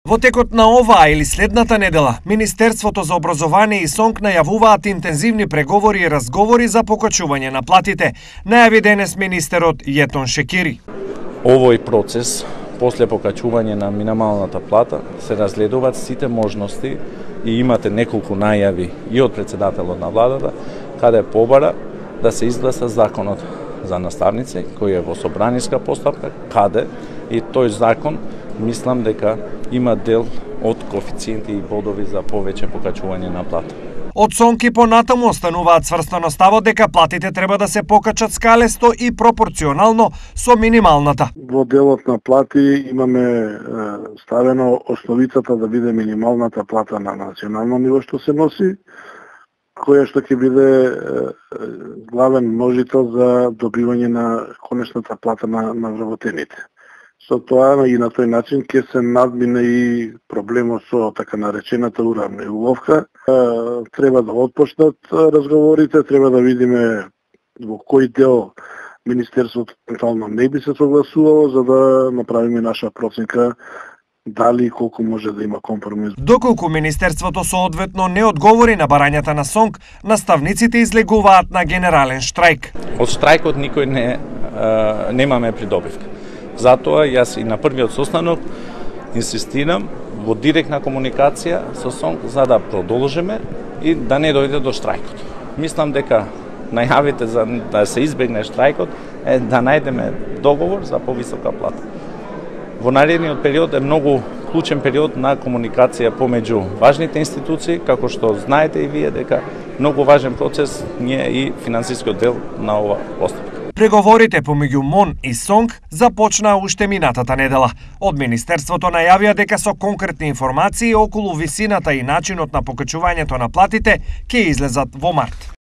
Во текот на оваа или следната недела, Министерството за образование и СОНК најавуваат интензивни преговори и разговори за покачување на платите, најави денес министерот Јетон Шекири. Овој процес, после покачување на минималната плата, се разгледуваат сите можности и имате неколку најави и од председателот на владата, каде побара да се изгласа законот за наставници, кој е во собраниска постапка, каде и тој закон, мислам дека има дел од коефициенти и бодови за повеќе покачување на плата. Од СОНК и понатаму остануваат цврстано ставот дека платите треба да се покачат скалесто и пропорционално со минималната. Во делот на плати имаме ставено основицата да биде минималната плата на национално ниво што се носи, која што ќе биде главен можител за добивање на конечната плата на вработените. Со тоа и на тој начин ќе се надмине и проблемот со така наречената уравниловка. Треба да отпочнат разговорите, треба да видиме во кој дел Министерството евентуално не би се согласувало за да направиме наша проценка дали и колку може да има компромис. Доколку Министерството соодветно не одговори на барањата на СОНК, наставниците излегуваат на генерален штрајк. Од штрајкот никој немаме придобивка. Затоа јас и на првиот состанок инсистирам во директна комуникација со СОНК за да продолжиме и да не дојде до штрајкот. Мислам дека најавите за да се избегне штрајкот е да најдеме договор за повисока плата. Во наредниот период е многу клучен период на комуникација помеѓу важните институции, како што знаете и вие дека многу важен процес ние и финансискиот дел на ова постапка. Преговорите помеѓу МОН и СОНК започнаа уште минатата недела. Од Министерството најавија дека со конкретни информации околу висината и начинот на покачувањето на платите ќе излезат во март.